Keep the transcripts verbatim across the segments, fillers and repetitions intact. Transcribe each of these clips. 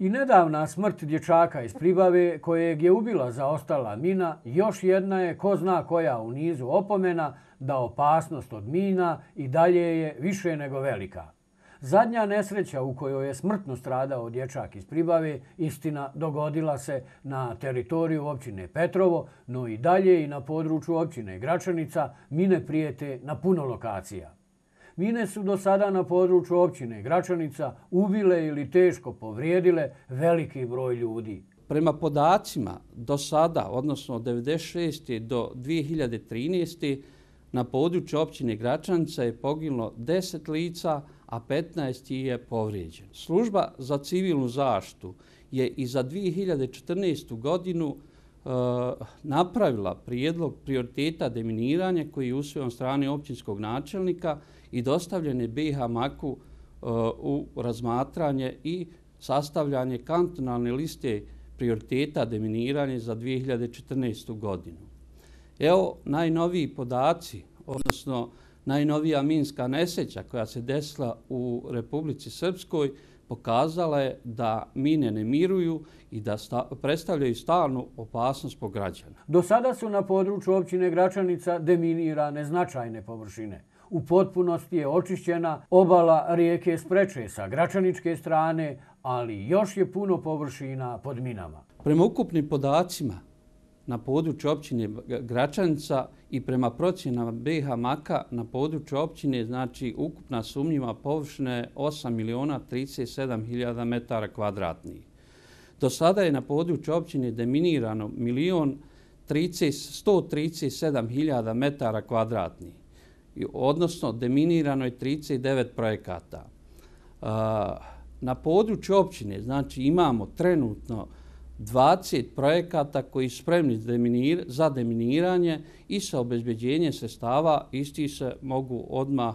I nedavna smrt dječaka iz Pribave kojeg je ubila zaostala mina još jedna je ko zna koja u nizu opomena da opasnost od mina i dalje je više nego velika. Zadnja nesreća u kojoj je smrtno stradao dječak iz Pribave, istina, dogodila se na teritoriju općine Petrovo, no i dalje i na području općine Gračanica mine prijete na puno lokacija. Mine su do sada na području općine Gračanica ubile ili teško povrijedile veliki broj ljudi. Prema podacima do sada, odnosno od devedeset šeste do dvije hiljade trinaeste. na području općine Gračanica je poginulo deset lica, a petnaest je povrijeđeno. Služba za civilnu zaštitu je i za dvije hiljade četrnaestu. godinu e, napravila prijedlog prioriteta deminiranja koji je usvojen od strane općinskog načelnika i dostavljen je B i H MAK-u e, u razmatranje i sastavljanje kantonalne liste prioriteta deminiranja za dvije hiljade četrnaestu. godinu. Evo najnoviji podaci, odnosno najnovija minska nesreća koja se desila u Republici Srpskoj pokazala je da mine ne miruju i da sta, predstavljaju stalnu opasnost po građana. Do sada su na području općine Gračanica deminirane značajne površine. U potpunosti je očišćena obala rijeke Spreče sa gračaničke strane, ali još je puno površina pod minama. Prema ukupnim podacima na području općine Gračanica i prema procjenama B i H MAK-a na području općine, znači ukupna sumnjiva površina je osam miliona trideset sedam hiljada metara kvadratnih. Do sada je na području općine deminirano milion sto trideset sedam hiljada metara kvadratnih, odnosno deminirano je trideset devet projekata. Na području općine, znači imamo trenutno dvadeset projekata koji su spremni za deminiranje i sa obezbeđenjem sredstava isti se mogu odmah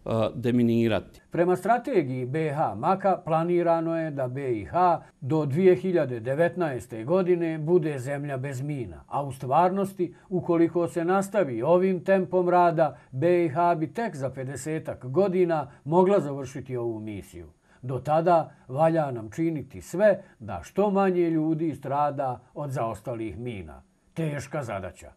uh, deminirati. Prema strategiji B i H MAK-a planirano je da B i H do dvije hiljade devetnaeste. godine bude zemlja bez mina, a u stvarnosti, ukoliko se nastavi ovim tempom rada, B i H bi tek za pedesetak godina mogla završiti ovu misiju. Do tada valja nam činiti sve da što manje ljudi strada od zaostalih mina. Teška zadaća.